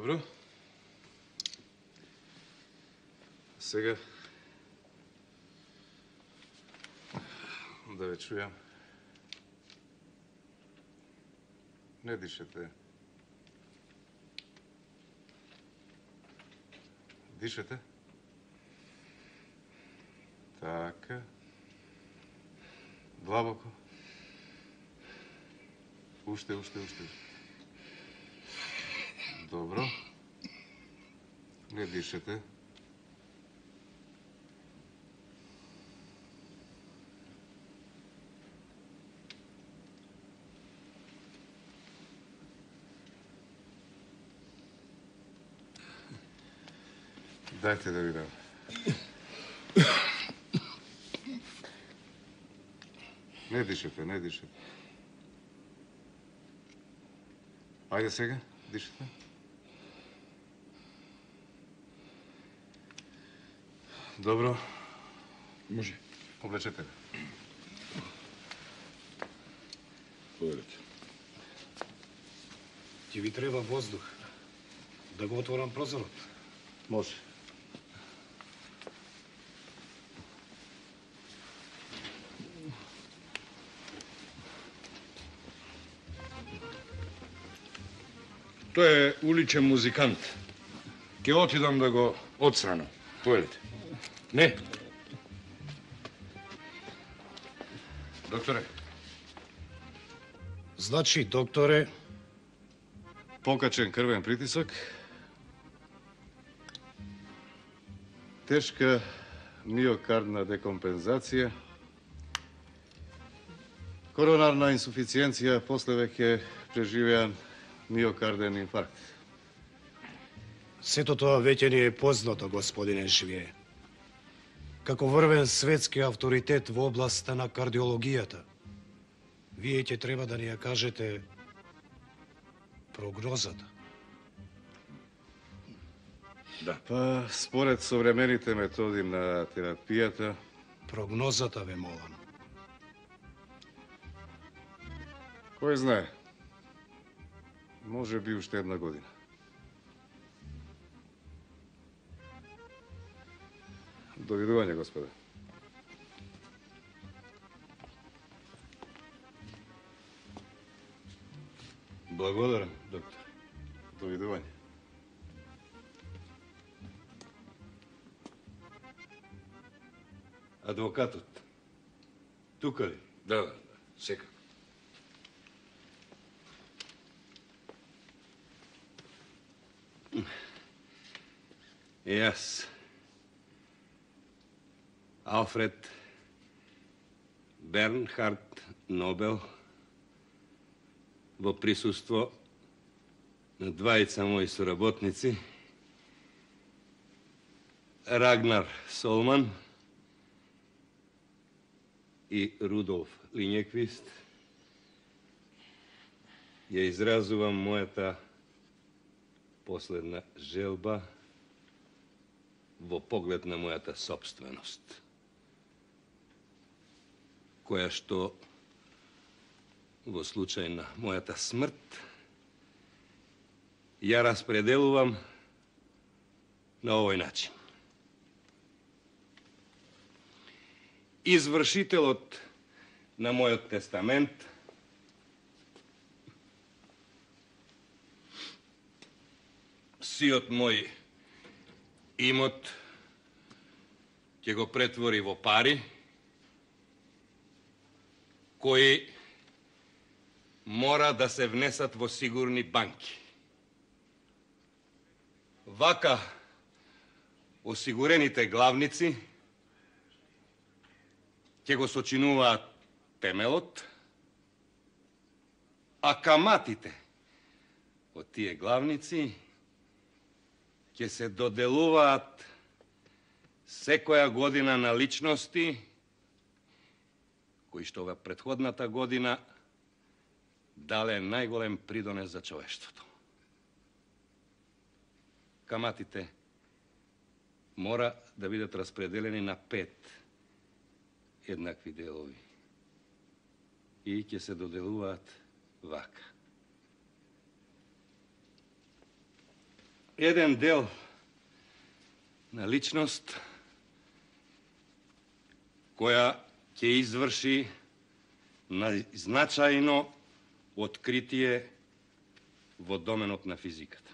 Добро. Сега да ве чујам. Не дишете. Дишете. Така. Длабоко. Уште. Добро. Не дишете. Дајте да видам. Не дишете. Ајде сега, дишете. Добро. Може. Облечете ме. Поверете. Ти ви треба воздух. Да го отворам прозорот. Може. Тој е уличен музикант. Ке отидам да го отстранам. Поверете. Не. Докторе. Значи, докторе, Покачен крвен притисок. Тешка миокардна декомпензација. Коронарна инсуфициенција, после веќе преживеан миокарден инфаркт. сето тоа веќе ни е познато, господине Швие. Како врвен светски авторитет во областа на кардиологијата, вие ќе треба да ни ја кажете прогнозата. Да. Па, според современите методи на терапијата, Прогнозата ве молам. кој знае, може би уште една година. Довидување, господе. Благодарам, доктор. Довидување. Адвокатот. Тука ли? Да, сега. Јас, Алфред Бернхард Нобел, во присуство на двајца мои соработници, Рагнар Солман и Рудолф Линјеквист, ја изразувам мојата последна желба во поглед на мојата собственост, која што во случај на мојата смрт ја распределувам на овој начин. Извршителот на мојот тестамент сиот мој имот ќе го претвори во пари кои мора да се внесат во сигурни банки. Вака осигурените главници ќе го сочинуваат темелот, а каматите од тие главници ќе се доделуваат секоја година на личности кои што во претходната година дале најголем придонес за човештвото. Каматите мора да бидат распределени на 5 еднакви делови и ќе се доделуваат вака. еден дел на личност која ќе изврши најзначајно откритие во доменот на физиката.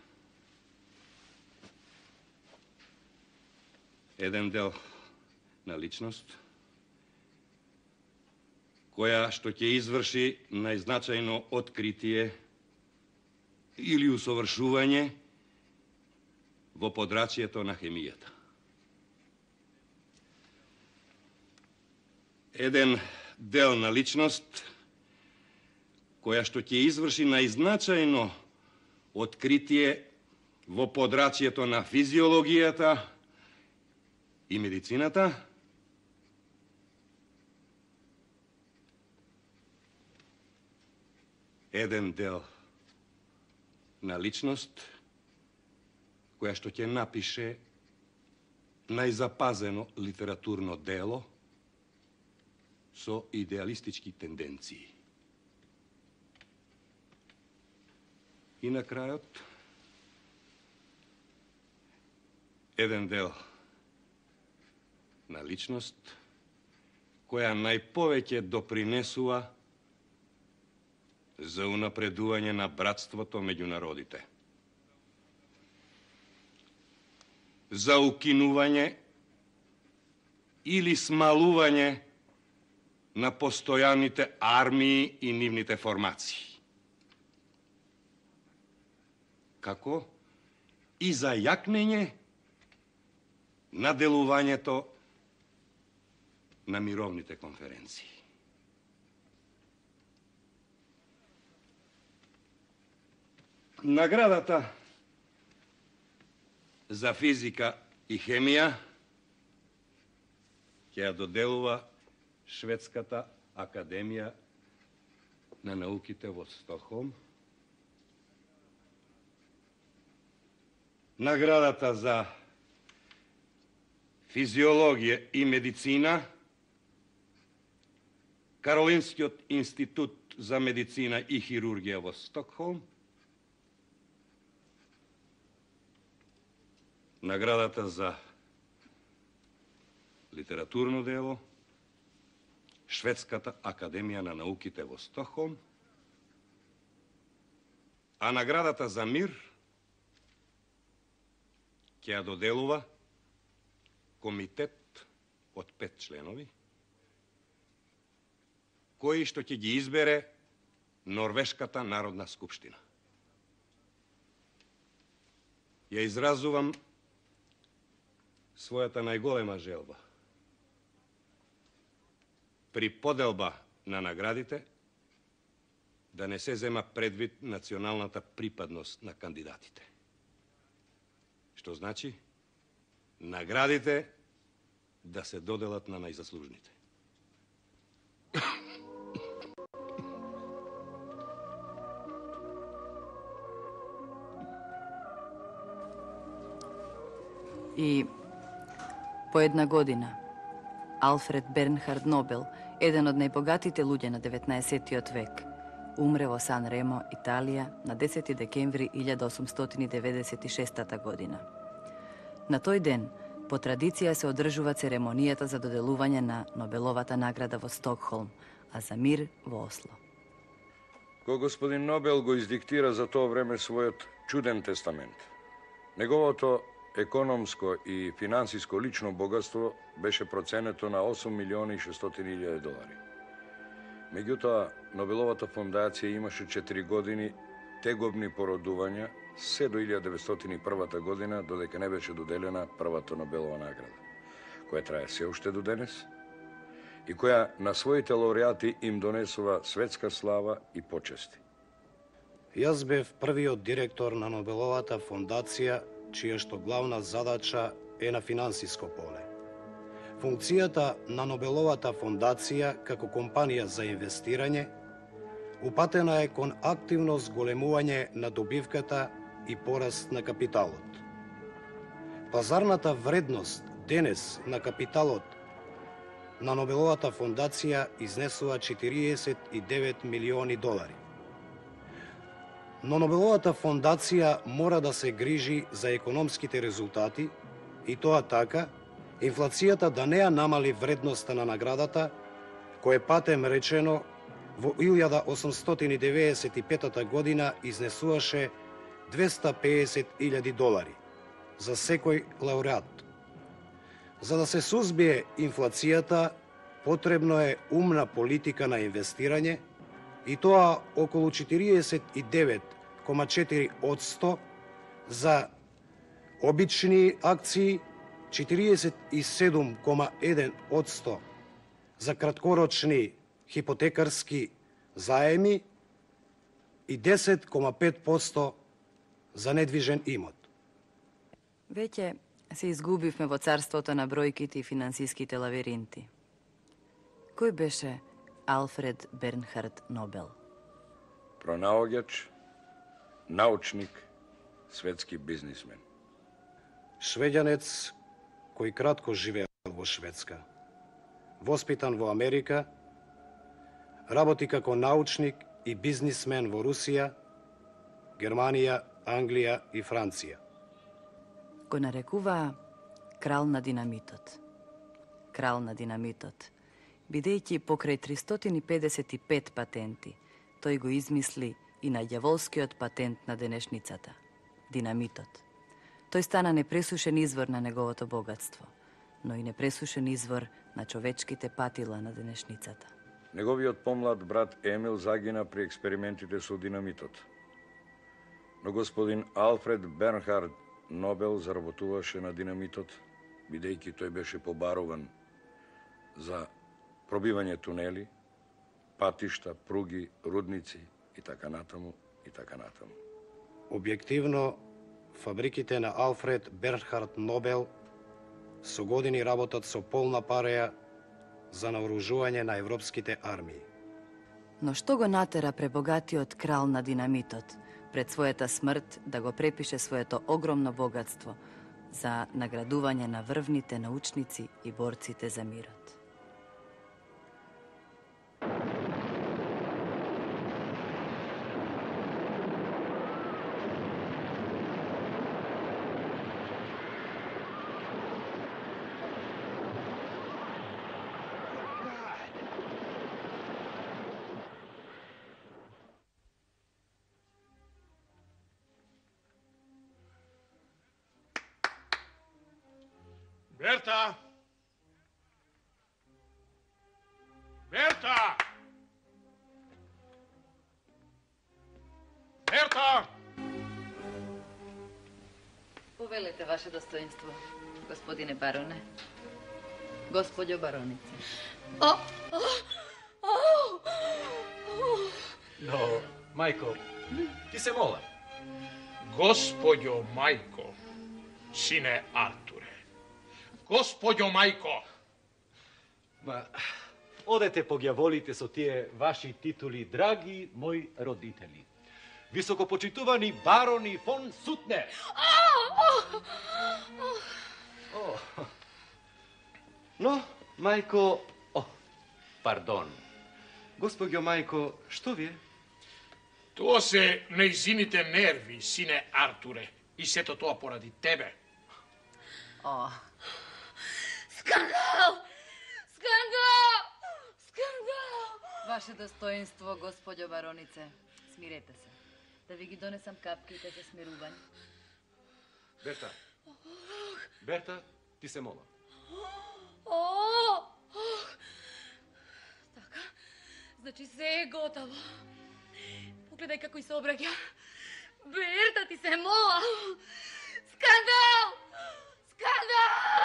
Еден дел на личност која што ќе изврши најзначајно откритие или усовршување во подрачјето на хемијата. Еден дел на личност која што ќе изврши најзначајно откритие во подрачјето на физиологијата и медицината, еден дел на личност која што ќе напише најзапазено литературно дело со идеалистички тенденции. И на крајот, еден дел на личност која најповеќе допринесува за унапредување на братството меѓу народите, за укинување или смалување на постојаните армии и нивните формации, како и за јакнење на делувањето на мировните конференции. Наградата за физика и хемија ќе ја доделува Шведската академија на науките во Стокхолм. Наградата за физиологија и медицина Каролинскиот институт за медицина и хирургија во Стокхолм. Наградата за литературно дело Шведската академија на науките во Стокхолм, а наградата за мир ќе ја доделува комитет од 5 членови, кои што ќе ги избере Норвешката народна скупштина. Ја изразувам својата најголема желба при поделба на наградите да не се зема предвид националната припадност на кандидатите. Што значи наградите да се доделат на најзаслужните. И по една година Алфред Бернхард Нобел, еден од најбогатите луѓе на 19. век, умре во Сан Ремо, Италија, на 10. декември 1896 година. На тој ден, по традиција се одржува церемонијата за доделување на Нобеловата награда во Стокхолм, а за мир во Осло. Кога господин Нобел го издиктира за тоа време својот чуден тестамент, неговото економско и финансиско лично богатство беше проценето на 8.600.000 долари. Меѓутоа, Нобеловата фондација имаше 4 години тегобни породувања се до 1901 година, додека не беше доделена првата Нобелова награда, која трае се уште до денес и која на своите лауреати им донесува светска слава и почести. Јас бев првиот директор на Нобеловата фондација, чија што главна задача е на финансиско поле. Функцијата на Нобеловата фондација како компанија за инвестирање упатена е кон активно зголемување на добивката и пораст на капиталот. Пазарната вредност денес на капиталот на Нобеловата фондација изнесува 49 милиони долари. Но Нобеловата фондација мора да се грижи за економските резултати и тоа така, инфлацијата да не ја намали вредноста на наградата, кој патем речено во 1895 година изнесуваше $250,000 за секој лауреат. За да се сузбие инфлацијата, потребно е умна политика на инвестирање и тоа околу 49,4% за обични акции, 47,1% за краткорочни хипотекарски заеми и 10,5% за недвижен имот. Веќе се изгубивме во царството на бројките и финансиските лавиринти. Кој беше Алфред Бернхард Нобел? Пронаоѓач, научник, светски бизнисмен. Швеѓанец кој кратко живеел во Шведска. Воспитан во Америка, работи како научник и бизнисмен во Русија, Германија, Англија и Франција. Го нарекуваа крал на динамитот. Крал на динамитот, бидејќи покрај 355 патенти, тој го измисли и најдјаволскиот патент на денешницата – динамитот. Тој стана непресушен извор на неговото богатство, но и непресушен извор на човечките патила на денешницата. Неговиот помлад брат Емил загина при експериментите со динамитот. Но господин Алфред Бернхард Нобел заработуваше на динамитот, бидејќи тој беше побаруван за пробивање тунели, патишта, пруги, рудници и така натаму, и така натаму. Објективно, фабриките на Алфред Бернхард Нобел со години работат со полна пареја за наоружување на европските армии. Но што го натера пребогатиот крал на динамитот пред својата смрт да го препише своето огромно богатство за наградување на врвните научници и борците за мирот? Берта! Берта! Берта! Повелете, ваше достоинство, господине бароне. Господјо баронице. Но, мајко, ти се мола. Господјо мајко, сине Артуре. Господјо мајко! Ма, одете погјаволите со тие ваши титули, драги мои родители. Високопочитувани барони фон Сутне. Но, мајко... Пардон. Господјо мајко, што ви е? Тоа се нејзините нерви, сине Артуре. И сето тоа поради тебе. Скандал! Скандал! Скандал! Ваше достоинство, господјо баронице, смирете се. Да ви ги донесам капките за смирување. Берта. Берта, ти се мола. Така, значи се е готово. Погледај како и се обраќа. Берта, ти се мола. Скандал! Скандал!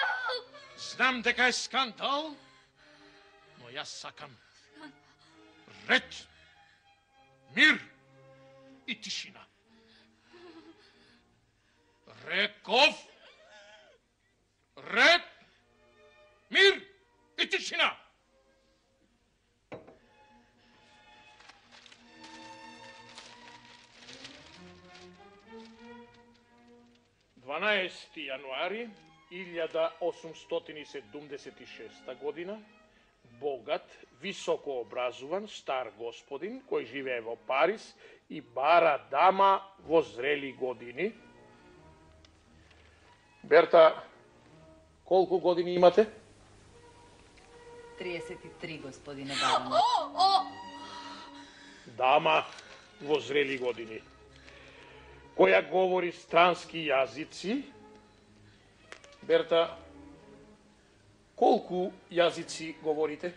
Знам дека е скандал, но јас сакам ред, мир и тишина. Реков ред, мир и тишина. Јануари 1876 година, богат, високо образуван, стар господин, кој живее во Париз и бара дама во зрели години. Берта, колку години имате? 33, господине барон. Дама во зрели години, која говори странски јазици. Берта, колку јазици говорите?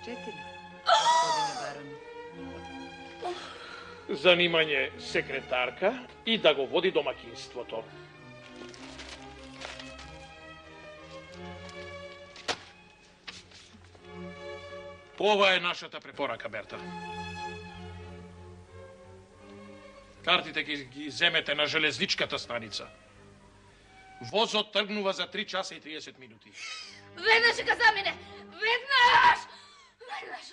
4, господине барон. Занимање секретарка и да го води домакинството. Ова е нашата препорака, Берта. Картите ги земете на железничката станица. Возот тргнува за 3 часа и 30 минути. Веднаш ка замине! Веднаш! Веднаш!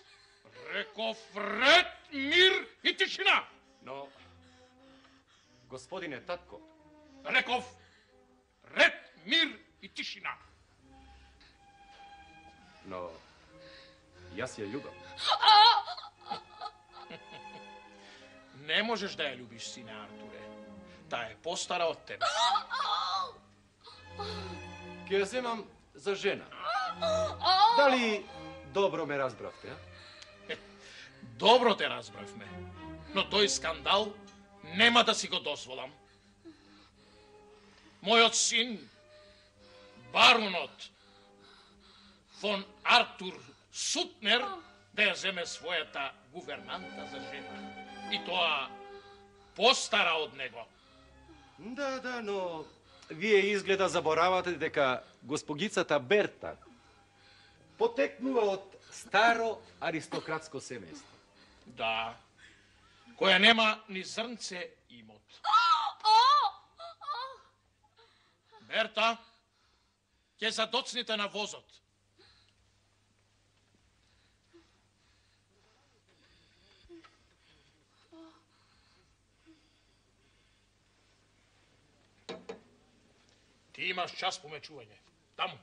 Реков ред, мир и тишина! Но, господине татко, Реков ред, мир и тишина! но јас ја љубам. Не можеш да ја љубиш, сине Артуре. Таа е постара од тебе. Ке ја земам за жена. Дали добро ме разбравте, а? Добро те разбравме, но тој скандал нема да си го дозволам. Мојот син, баронот фон Артур Сутнер, да ја земе својата гувернанта за жена. И тоа постара од него. Да, но вие изгледа заборавате дека госпогицата Берта потекнува од старо аристократско семејство. Да, која нема ни зрнце имот. Берта, ќе задоцните на возот. Ти имаш час помечување. Таму.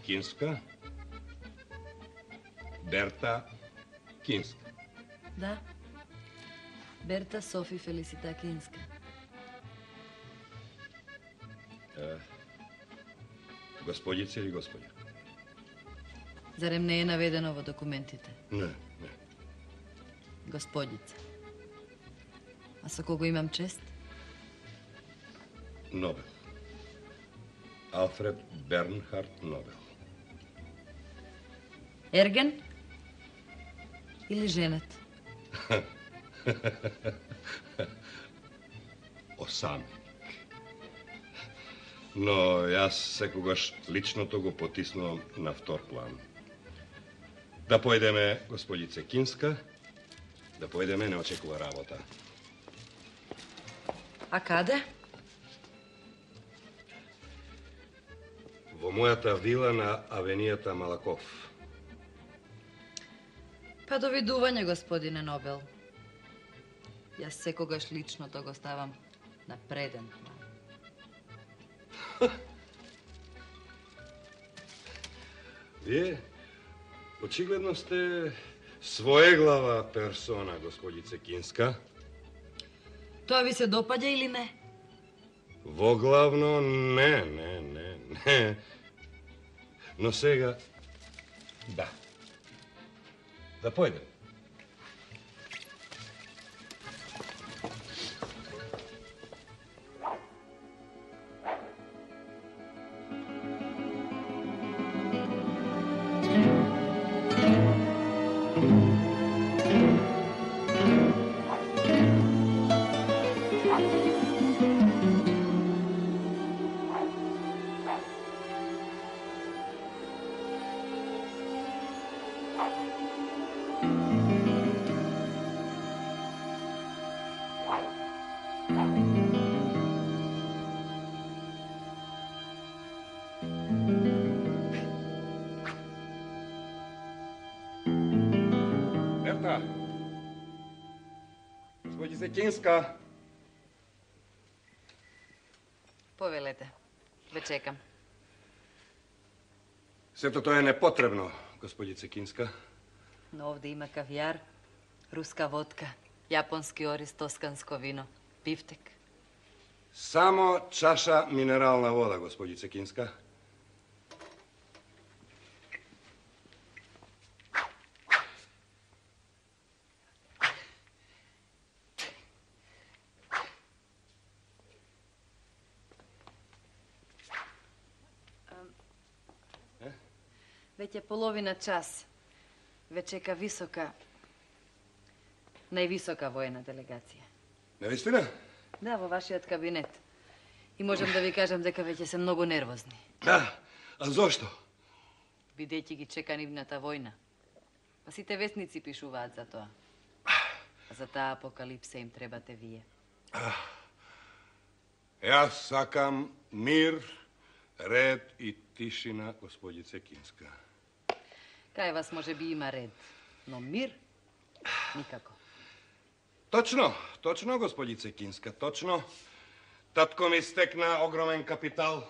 Кинска? Берта Кинска. Да. Берта Софи Фелисита Кинска. Господица или господја? Зарем не е наведено во документите? Не. Господица. А со кого имам чест? Нобел. Алфред Бернхард Нобел. Ерген? Или женет? Осамник. Но јас секогаш личното го потиснувам на втор план. Да појдеме, господице Кинска, да појдеме, не очекува работа. А каде? Во мојата вила на авенијата Малаков. Па довидување, господине Нобел. Јас секогаш личното го ставам на преден план. Вие очигледно сте своеглава персона, господице Кинска. Тоа ви се допаѓа или не? Воглавно не. Но сега да. Да појдем. Берта! Господице Кинска! Повелете. Ве чекам. Сето тоа е непотребно, господице Кинска. Но овде има кавијар, руска водка, јапонски ориз, тосканско вино, бифтек. Само чаша минерална вода, господице Кинска. Веќе половина час. Ве чека највисока воена делегација. Навистина? Да, во вашиот кабинет. И можам да ви кажам дека веќе се многу нервозни. Да, а зошто? Бидејќи ги чека нивната војна. Па сите вестници пишуваат за тоа. А за таа апокалипса им требате вие. Јас сакам мир, ред и тишина, господице Кинска. Кај вас може би има ред, но мир никако. Точно, господице Кинска, точно. Татко ми стекна огромен капитал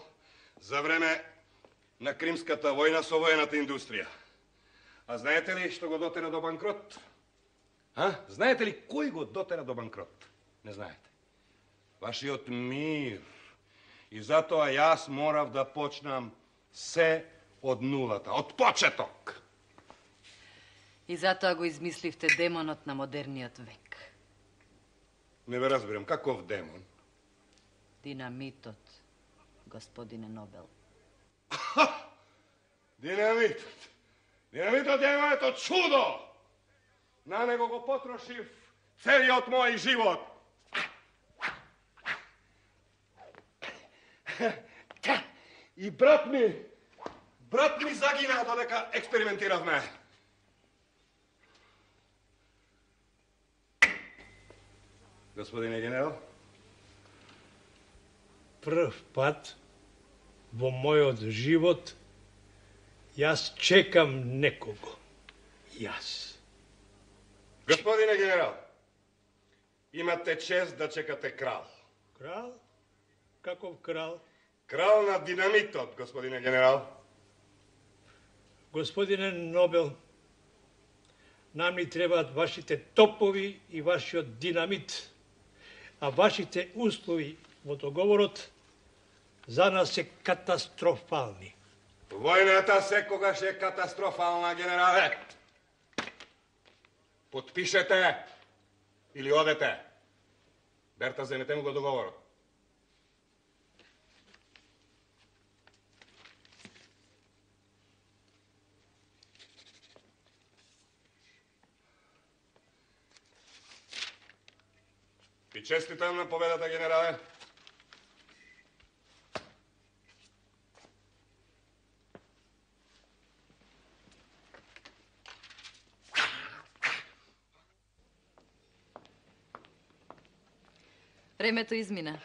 за време на Кримската војна со воената индустрија. А знаете ли што го дотера до банкрот? Знаете ли кој го дотера до банкрот? Не знаете. Вашиот мир. И затоа јас морав да почнам се од нулата, од почеток. И затоа го измисливте демонот на модерниот век. Не ве разбирам, каков демон? Динамитот, господине Нобел. Динамитот. Динамитот е моето чудо! На него го потрошив целиот мој живот. И брат ми загина додека експериментиравме. Господине генерал? Прв пат во мојот живот јас чекам некого. Јас. Господине генерал, имате чест да чекате крал. Крал? Каков крал? Крал на динамитот, господине генерал. Господине Нобел, нам ни требаат вашите топови и вашиот динамит, а вашите услови во договорот за нас се катастрофални. Војната секогаш е катастрофална, генерале. Подпишете или одете. Берта, земете му го договорот. И честитам на победата, генерале. Времето измина.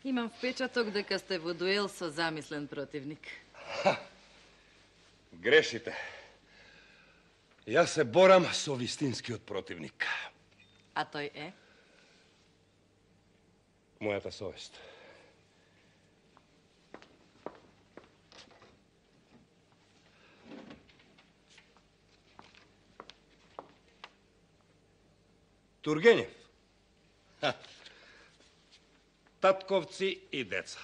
Имам впечаток дека сте во дуел со замислен противник. Грешите. Јас се борам со вистинскиот противник. А тој е? Мојата совест. Тургенев. Татковци и деца.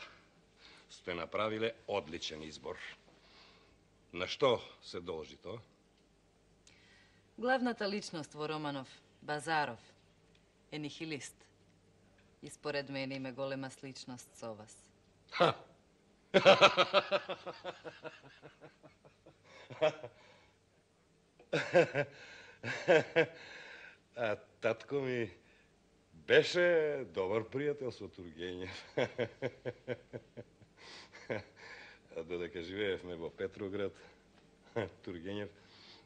Сте направиле одличен избор. На што се должи тоа? Главната личност во Романов, Базаров, е нихилист. И според мене има голема сличност со вас. А татко ми беше добар пријател со Тургенев. А додека живеевме во Петроград, Тургенев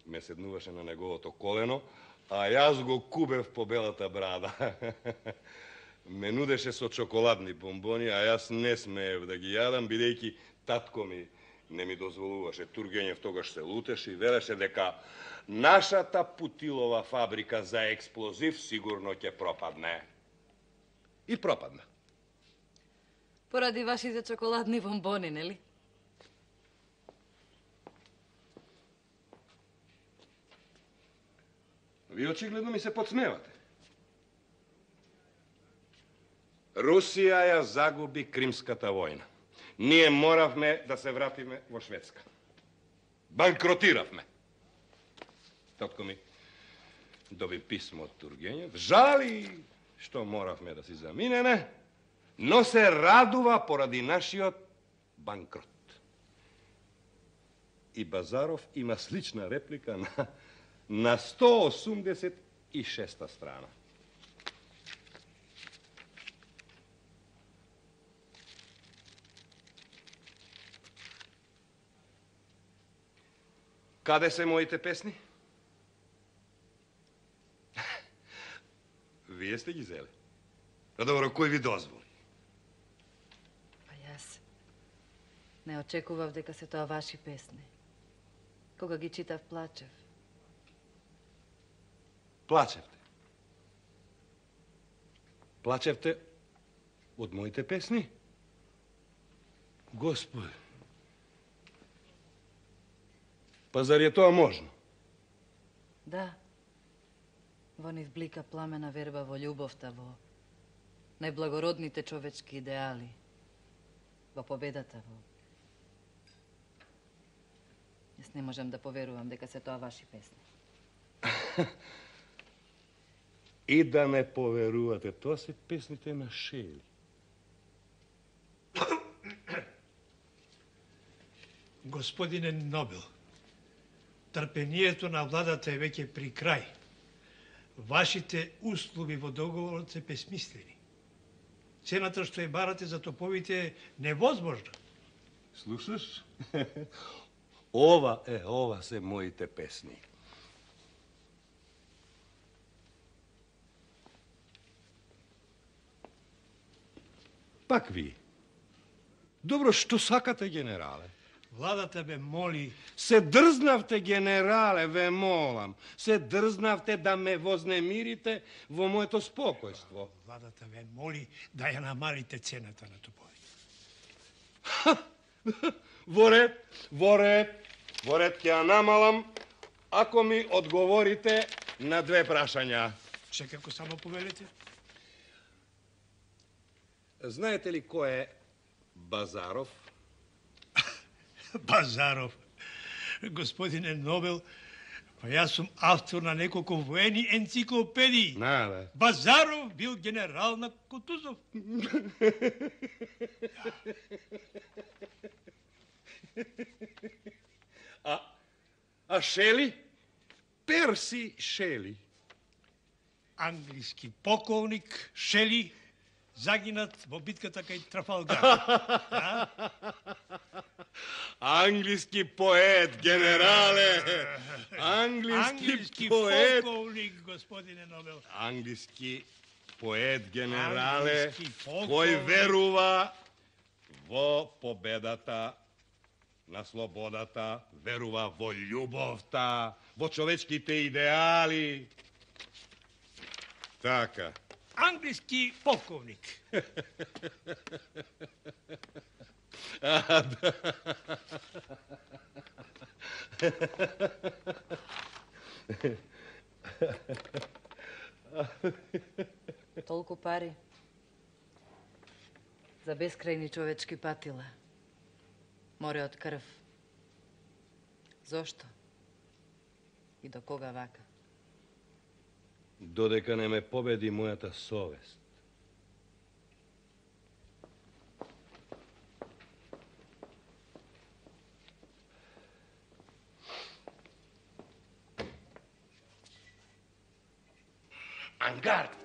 ме седнуваше на неговото колено, а јас го кубев по белата брада. Ме нудеше со чоколадни бомбони, а јас не смеев да ги јадам, бидејќи татко ми не ми дозволуваше. Тургенев тогаш се лутеше и велеше дека нашата Путилова фабрика за експлозив сигурно ќе пропадне. И пропадна. Поради вашите чоколадни бомбони, нели? Ви очигледно ми се подсмевате. Русија ја загуби Кримската војна. Ние моравме да се вратиме во Шведска. Банкротиравме. Татко ми доби писмо од Тургенев. Жали што моравме да си заминеме, но се радува поради нашиот банкрот. И Базаров има слична реплика на 186 страна. Каде се моите песни? Вие сте ги зели. А добро, кој ви дозволи? Па јас не очекував дека се тоа ваши песни. Кога ги читав, плачев. Плачевте. Плачевте од моите песни? Господи. Па зар е тоа можно? Да. Во нив блика пламена верба во љубовта, во најблагородните човечки идеали, во победата, во... Јас не можам да поверувам дека се тоа ваши песни. И да не поверувате, тоа се песните на Шели. Господине Нобел, трпението на владата е веќе при крај. Вашите услови во договорот се бесмислени. Цената што ја барате за топовите е невозможна. Слушаш? Ова се моите песни. Пак ви. Добро, што сакате, генерале? Владата бе моли... Се дрзнавте, генерале, ве молам. Се дрзнавте да ме вознемирите во моето спокојство. Владата ве моли да ја намалите цената на топовите. Во ред ќе ја намалам, ако ми одговорите на две прашања. Секако само повелете. Знаете ли кој е Базаров? Базаров. Господине Нобел, па јас сум автор на неколку воени енциклопедии. Да. Базаров бил генерал на Кутузов. А Шели? Перси Шели. Англиски полковник Шели, загинат во битката кај Трафалгар. Англиски поет, генерале! Англиски поет! Полковник, господине Нобел. Англиски поет, генерале, Англиски полковник. кој верува во победата на слободата, верува во љубовта, во човечките идеали. Така. Англиски полковник. Толку пари за бескрајни човечки патила. Море од крв. Зошто? И до кога вака? Додека не ме победи мојата совест. Ангард!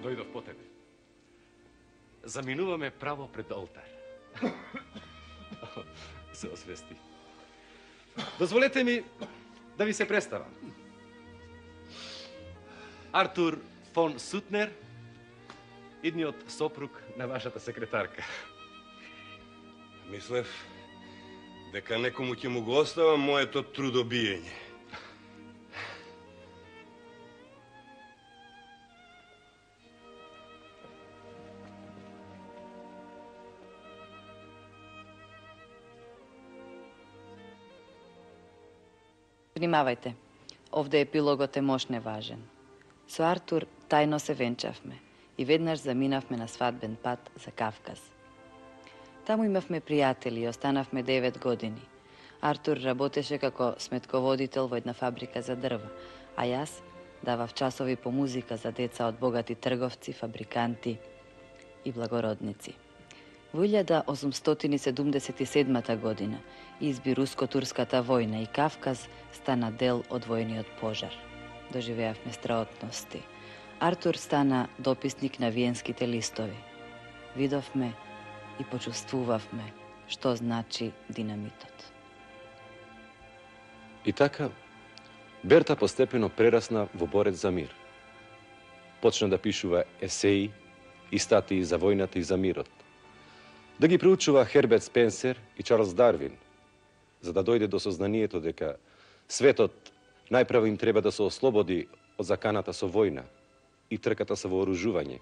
Дојдов по тебе. Заминуваме право пред олтар. Се освести. Дозволете ми да ви се представам. Артур фон Сутнер, идниот сопруг на вашата секретарка. Мислев дека некому ќе му го оставам моето трудобиење. Внимавајте, овде епилогот е мошне важен. Со Артур тајно се венчавме и веднаш заминавме на свадбен пат за Кавказ. Таму имавме пријатели и останавме 9 години. Артур работеше како сметководител во една фабрика за дрва, а јас давав часови по музика за деца од богати трговци, фабриканти и благородници. Во 1877 година изби Руско-турската војна и Кавказ стана дел од војниот пожар. Доживеавме страотности. Артур стана дописник на виенските листови. Видовме и почувствувавме што значи динамитот. И така, Берта постепено прерасна во борец за мир. Почна да пишува есеи и статии за војната и за мирот. Да ги проучува Херберт Спенсер и Чарлс Дарвин, за да дојде до сознанието дека светот најпрво им треба да се ослободи од заканата со војна и трката со вооружување,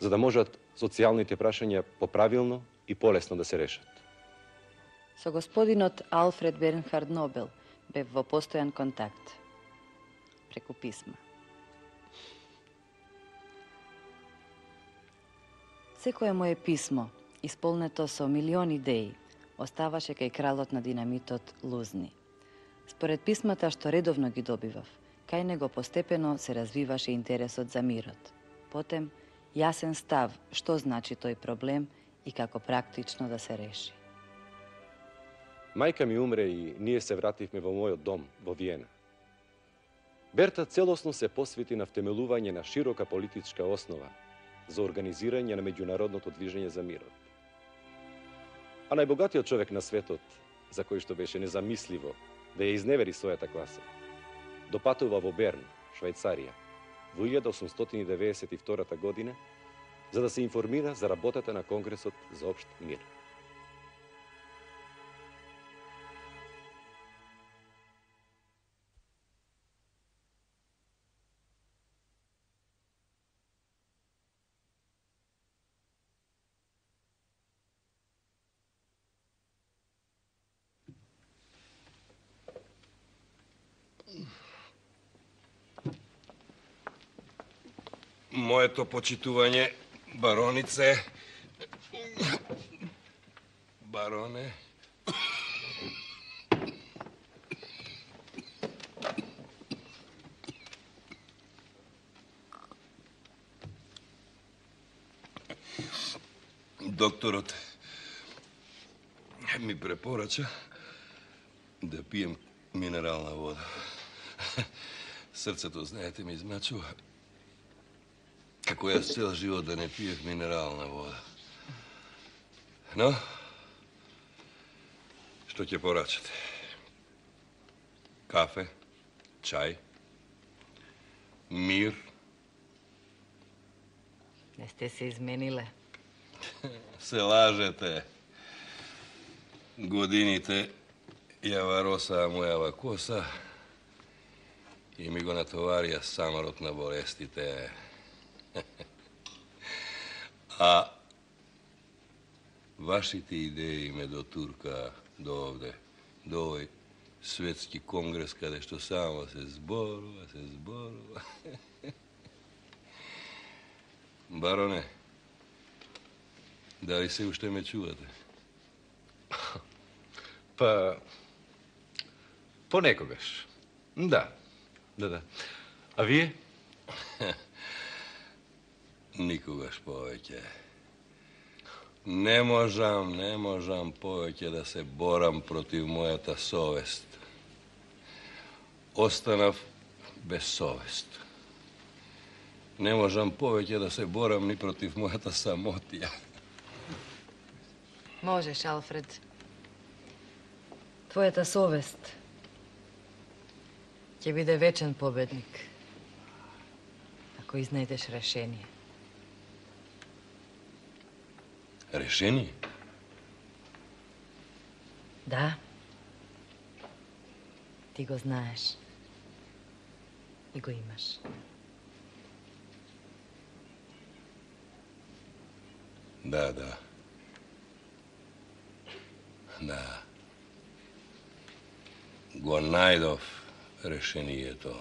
за да можат социјалните прашања поправилно и полесно да се решат. Со господинот Алфред Бернхард Нобел бев во постојан контакт, преку писма. Секое мое писмо, исполнето со милиони идеи, оставаше кај кралот на динамитот Лузни. Според писмата што редовно ги добивав, кај него постепено се развиваше интересот за мирот. Потем, јасен став што значи тој проблем и како практично да се реши. Мајка ми умре и ние се вративме во мојот дом во Виена. Берта целосно се посвети на втемелување на широка политичка основа за организирање на меѓународното движење за мирот. А најбогатиот човек на светот, за кој што беше незамисливо да ја изневери својата класа, допатува во Берн, Швајцарија, во 1892 година, за да се информира за работата на Конгресот за општ мир. Моето почитување, баронице. бароне. Докторот ми препорача да пием минерална вода. Срцето, знаете, ми измачува. Како јас цел живот да не пиех минерална вода. Но, што ќе порачате? Кафе, чај, мир. Не сте се измениле. Се лажете. Годините јава роса мојава коса и ми го натоварија самарот на болестите. А вашите идеи ме дотурка до овде, до овој светски конгрес, каде што само се зборува. Бароне, дали се уште ме чувате? Па, понекогаш. Да. А вие? Никогаш повеќе. Не можам повеќе да се борам против мојата совест. Останав без совест. Не можам повеќе да се борам ни против мојата самотија. Можеш, Алфред. Твојата совест ќе биде вечен победник, ако изнајдеш решение. Решение? Да. Ти го знаеш. И го имаш. Да. Го најдов решението.